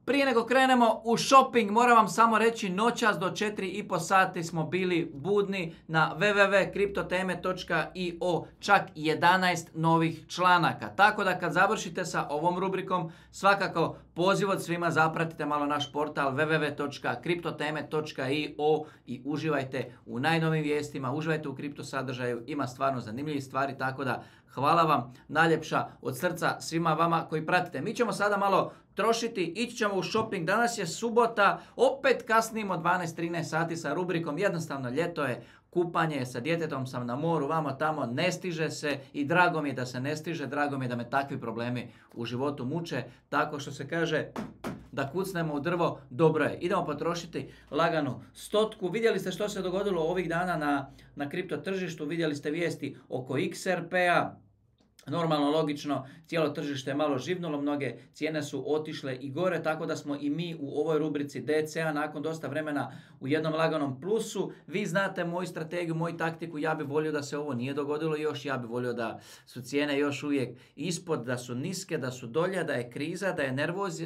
Prije nego krenemo u shopping, moram vam samo reći, noćas do 4,5 sati smo bili budni na www.kriptoteme.io, čak 11 novih članaka. Tako da kad završite sa ovom rubrikom, svakako poziv od svima, zapratite malo naš portal www.kriptoteme.io i uživajte u najnovim vijestima, uživajte u kripto sadržaju, ima stvarno zanimljivih stvari, tako da hvala vam najljepša od srca svima vama koji pratite. Mi ćemo sada malo trošiti, ići ćemo u shopping. Danas je subota, opet kasnimo 12-13 sati sa rubrikom. Jednostavno ljeto je, kupanje, sa djetetom sam na moru, vamo tamo, ne stiže se i drago mi je da se ne stiže, drago mi je da me takvi problemi u životu muče. Tako što se kaže da kucnemo u drvo, dobro je. Idemo potrošiti laganu 100. Vidjeli ste što se dogodilo ovih dana na kripto tržištu, vidjeli ste vijesti oko XRP-a. Normalno, logično, cijelo tržište je malo živnulo, mnoge cijene su otišle i gore, tako da smo i mi u ovoj rubrici DCA nakon dosta vremena u jednom laganom plusu. Vi znate moju strategiju, moju taktiku, ja bih volio da se ovo nije dogodilo još, ja bih volio da su cijene još uvijek ispod, da su niske, da su dolje, da je kriza, da je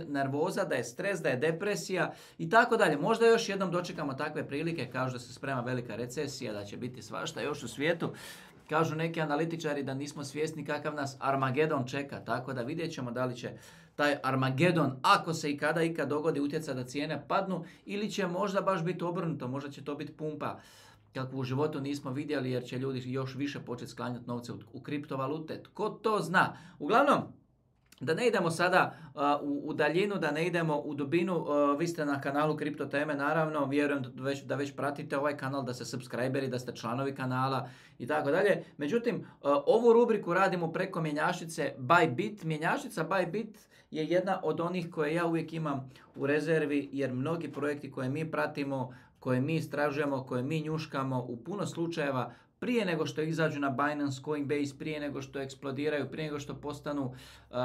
nervoza, da je stres, da je depresija i tako dalje. Možda još jednom dočekamo takve prilike, kao da se sprema velika recesija, da će biti svašta još u svijetu. Kažu neki analitičari da nismo svjesni kakav nas Armagedon čeka, tako da vidjet ćemo da li će taj Armagedon, ako se i kada ikad dogodi, utjecati da cijene padnu ili će možda baš biti obrnuto, možda će to biti pumpa kakvu u životu nismo vidjeli jer će ljudi još više početi sklanjati novce u kriptovalute. Tko to zna? Uglavnom, da ne idemo sada u daljinu, da ne idemo u dubinu, vi ste na kanalu Kripto Teme, naravno, vjerujem da već pratite ovaj kanal, da ste subscriberi, da ste članovi kanala i tako dalje. Međutim, ovu rubriku radimo preko mjenjačnice Bybit. Mjenjačnica Bybit je jedna od onih koje ja uvijek imam u rezervi jer mnogi projekti koje mi pratimo, koje mi istražujemo, koje mi njuškamo u puno slučajeva prije nego što izađu na Binance, Coinbase, prije nego što eksplodiraju, prije nego što postanu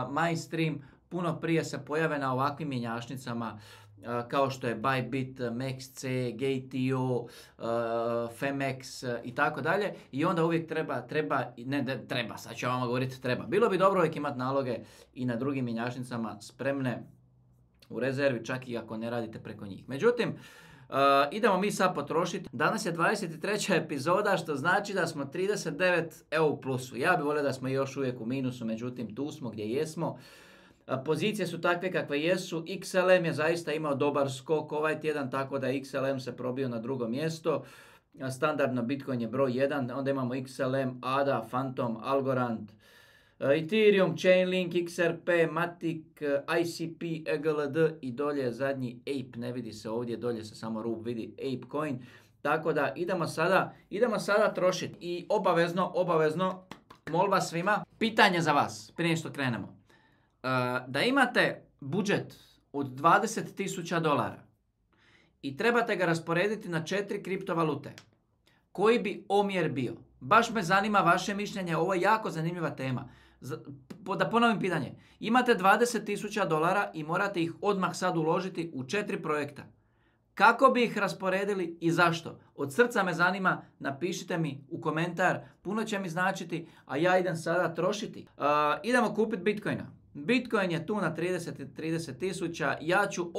mainstream, puno prije se pojave na ovakvim mjenjačnicama kao što je Bybit, MEXC, GTO, Femex i tako dalje. I onda uvijek treba, sad ću vam govoriti treba. Bilo bi dobro uvijek imati naloge i na drugim mjenjačnicama spremne u rezervi, čak i ako ne radite preko njih. Međutim, idemo mi sad potrošiti. Danas je 23. epizoda, što znači da smo 39 u plusu. Ja bih volio da smo još uvijek u minusu, međutim tu smo gdje jesmo. Pozicije su takve kakve jesu. XLM je zaista imao dobar skok ovaj tjedan, tako da XLM se probio na drugo mjesto. Standardno Bitcoin je broj 1, onda imamo XLM, ADA, Phantom, Algorand, Ethereum, Chainlink, XRP, Matic, ICP, EGLD i dolje zadnji Ape, ne vidi se ovdje, dolje se samo rub vidi, Ape Coin. Tako da idemo sada trošiti. I obavezno, molba svima, pitanje za vas, prije što krenemo. Da imate budžet od $20,000 i trebate ga rasporediti na 4 kriptovalute, koji bi omjer bio? Baš me zanima vaše mišljenje, ovo je jako zanimljiva tema. Da ponovim pitanje. Imate $20,000 i morate ih odmah sad uložiti u 4 projekta. Kako bi ih rasporedili i zašto? Od srca me zanima, napišite mi u komentar, puno će mi značiti, a ja idem sada trošiti. Idemo kupiti Bitcoina. Bitcoin je tu na 30,000, ja ću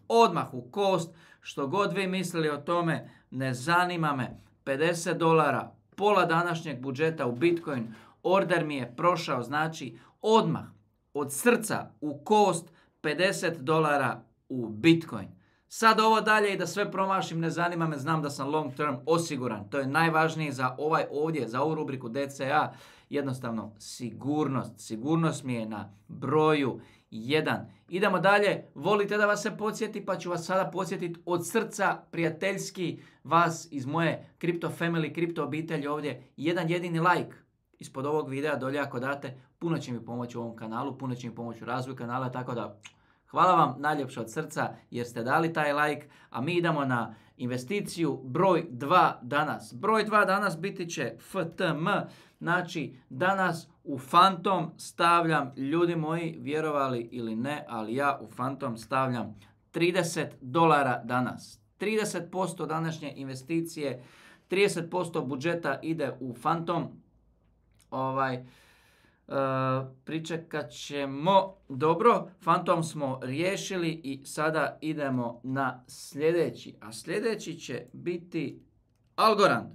odmah u kost, što god vi mislili o tome, ne zanima me, $50, pola današnjeg budžeta u Bitcoin, order mi je prošao, znači odmah, od srca, u kost, $50 u Bitcoin. Sad ovo dalje i da sve promašim, ne zanima me, znam da sam long term osiguran. To je najvažnije za za ovu rubriku DCA. Jednostavno, sigurnost mi je na broju 1. Idemo dalje, volite da vas se podsjeti, pa ću vas sada podsjetiti od srca, prijateljski, vas iz moje Crypto Family, kripto obitelji ovdje, jedan jedini like ispod ovog videa dolje ako date, puno će mi pomoći u ovom kanalu, puno će mi pomoći u razvoju kanala, tako da hvala vam najljepše od srca jer ste dali taj like, a mi idemo na investiciju broj 2 danas. Broj 2 danas biti će FTM, znači danas u Phantom stavljam, ljudi moji, vjerovali ili ne, ali ja u Phantom stavljam $30 danas. 30% današnje investicije, 30% budžeta ide u Phantom. Pričekat ćemo. Dobro, Fantom smo riješili i sada idemo na sljedeći. A sljedeći će biti Algorand.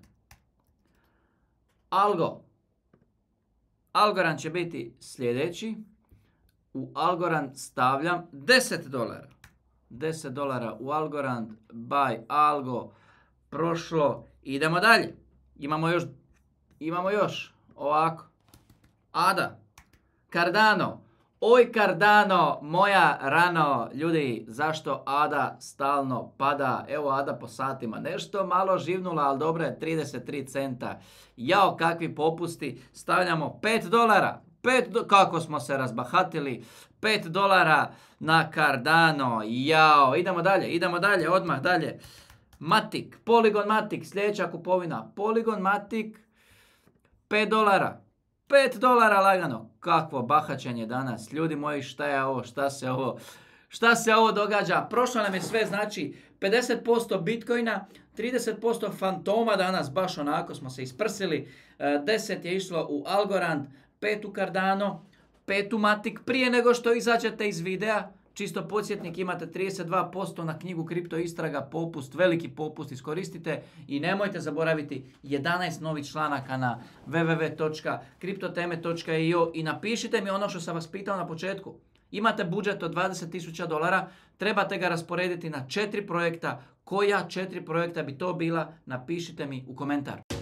Algorand će biti sljedeći. U Algorand stavljam $10. $10 u Algorand, buy Algo, prošlo. Idemo dalje. Imamo još ovako. Ada, Cardano, oj Cardano, moja rano, ljudi, zašto Ada stalno pada? Evo Ada po satima, nešto malo živnula, ali dobro je, 33 centa. Jao, kakvi popusti, stavljamo $5. Kako smo se razbahatili, $5 na Cardano, jao, idemo dalje, odmah dalje. Matic, Polygon Matic, sljedeća kupovina, Polygon Matic, $5. $5 lagano. Kakvo bahaćenje danas. Ljudi moji, šta je ovo? Šta se ovo događa? Prošlo nam je sve, znači 50% Bitcoina, 30% Fantoma danas, baš onako smo se isprsili. 10 je išlo u Algorand, 5 u Cardano, 5 u Matic. Prije nego što izađete iz videa, čisto podsjetnik, imate 32% na knjigu Kripto Istraga, popust, veliki popust, iskoristite i nemojte zaboraviti 11 novih članaka na www.kriptoteme.io i napišite mi ono što sam vas pitao na početku. Imate budžet od $20,000, trebate ga rasporediti na 4 projekta. Koja 4 projekta bi to bila? Napišite mi u komentar.